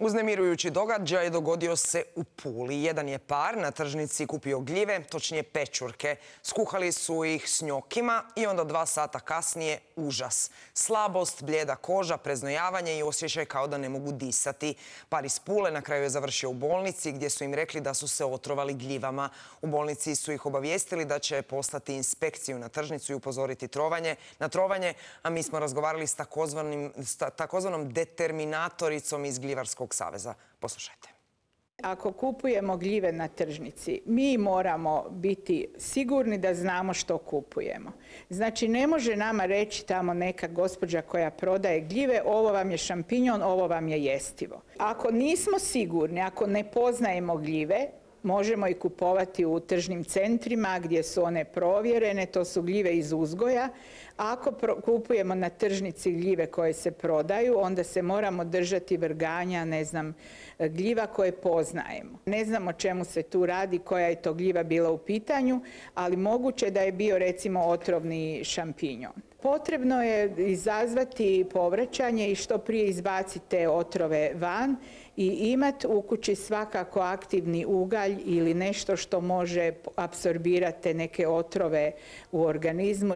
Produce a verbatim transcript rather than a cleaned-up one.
Uznemirujući događaj dogodio se u Puli. Jedan je par na tržnici kupio gljive, točnije pečurke. Skuhali su ih s njokima i onda dva sata kasnije užas. Slabost, bljeda koža, preznojavanje i osjećaj kao da ne mogu disati. Par iz Pule na kraju je završio u bolnici gdje su im rekli da su se otrovali gljivama. U bolnici su ih obavijestili da će poslati inspekciju na tržnicu i upozoriti trovanje, na trovanje, a mi smo razgovarali s takozvanim, s takozvanom determinatoricom iz Gljivarskog saveza. Poslušajte. Ako kupujemo gljive na tržnici, mi moramo biti sigurni da znamo što kupujemo. Znači, ne može nama reći tamo neka gospođa koja prodaje gljive, ovo vam je šampinjon, ovo vam je jestivo. Ako nismo sigurni, ako ne poznajemo gljive, možemo ih kupovati u tržnim centrima gdje su one provjerene, to su gljive iz uzgoja. Ako kupujemo na tržnici gljive koje se prodaju, onda se moramo držati vrganja, ne znam, gljiva koje poznajemo. Ne znam o čemu se tu radi, koja je to gljiva bila u pitanju, ali moguće da je bio recimo otrovni šampinjon. Potrebno je izazvati povraćanje i što prije izbaciti te otrove van i imati u kući svakako aktivni ugalj ili nešto što može apsorbirati neke otrove u organizmu.